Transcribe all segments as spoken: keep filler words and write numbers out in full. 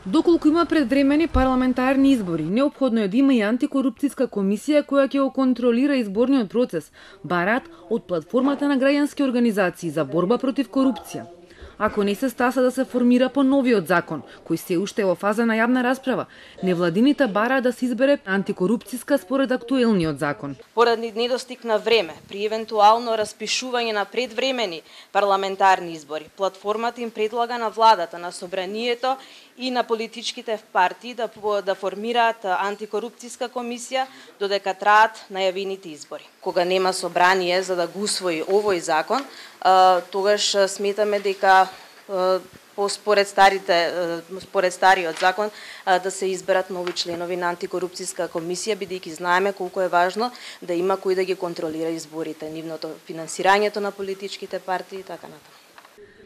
Доколку има предвремени парламентарни избори, неопходно е да има и антикорупцијска комисија која ќе го контролира изборниот процес, бараат од платформата на граѓански организации за борба против корупција. Ако не се стаса да се формира по новиот закон, кој се уште е во фаза на јавна расправа, невладините бараат да се избере антикорупцијска според актуелниот закон. Поради недостиг на време при евентуално распишување на предвремени парламентарни избори, платформата им предлага на владата, на собранието и на политичките партии да, да формираат антикорупцијска комисија додека траат најавените избори. Кога нема собрание за да го усвои овој закон, тогаш сметаме дека по според старите според стариот закон да се изберат нови членови на антикорупцијска комисија, бидејќи знаеме колку е важно да има кој да ги контролира изборите, нивното финансирањето на политичките партии и така натаму.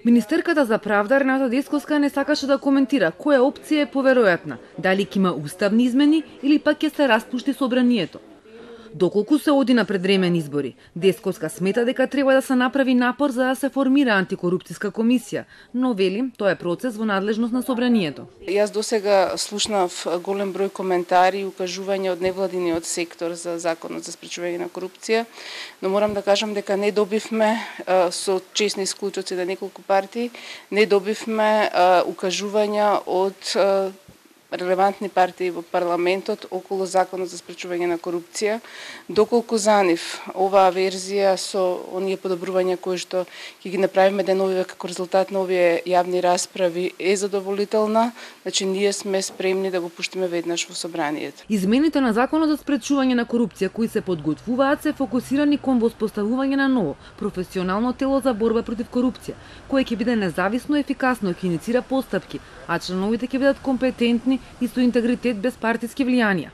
Министерката за правда Рената Десковска не сакаше да коментира која опција е поверојатна, дали ќе има уставни измени или пак ќе се распушти собранието. Доколку се оди на предвремени избори, Десковска смета дека треба да се направи напор за да се формира антикорупцијска комисија, но вели тоа е процес во надлежност на собранието. Јас досега слушнав голем број коментари и укажувања од невладиниот сектор за законот за спречување на корупција, но морам да кажам дека не добивме со чесни исклучоци на неколку партии, не добивме укажувања од релевантни партии во парламентот околу законот за спречување на корупција, доколку за нив оваа верзија со оние подобрувања кои што ќе ги направиме деновиве како резултат на овие јавни расправи е задоволителна, значи ние сме спремни да го пуштиме веднаш во собранието. Измените на законот за спречување на корупција кои се подготвуваат се фокусирани кон воспоставување на ново професионално тело за борба против корупција, кое ќе биде независно и ефикасно ќе иницира постапки, а членовите ќе бидат компетентни и со интегритет без партиски влијанија.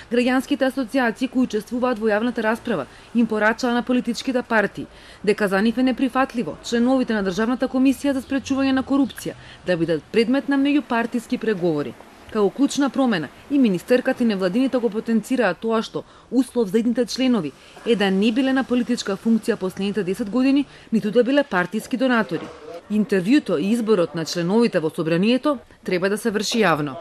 Граѓанските асоциации кои учествуваат во јавната расправа им порачаа на политичките партии дека за нив е неприфатливо членовите на Државната комисија за спречување на корупција да бидат предмет на меѓупартиски преговори. Како клучна промена и министерката и невладините го потенцираат тоа што услов за идните членови е да не биле на политичка функција последните десет години, ниту да биле партиски донатори. Интервјуто и изборот на членовите во собранието треба да се врши јавно.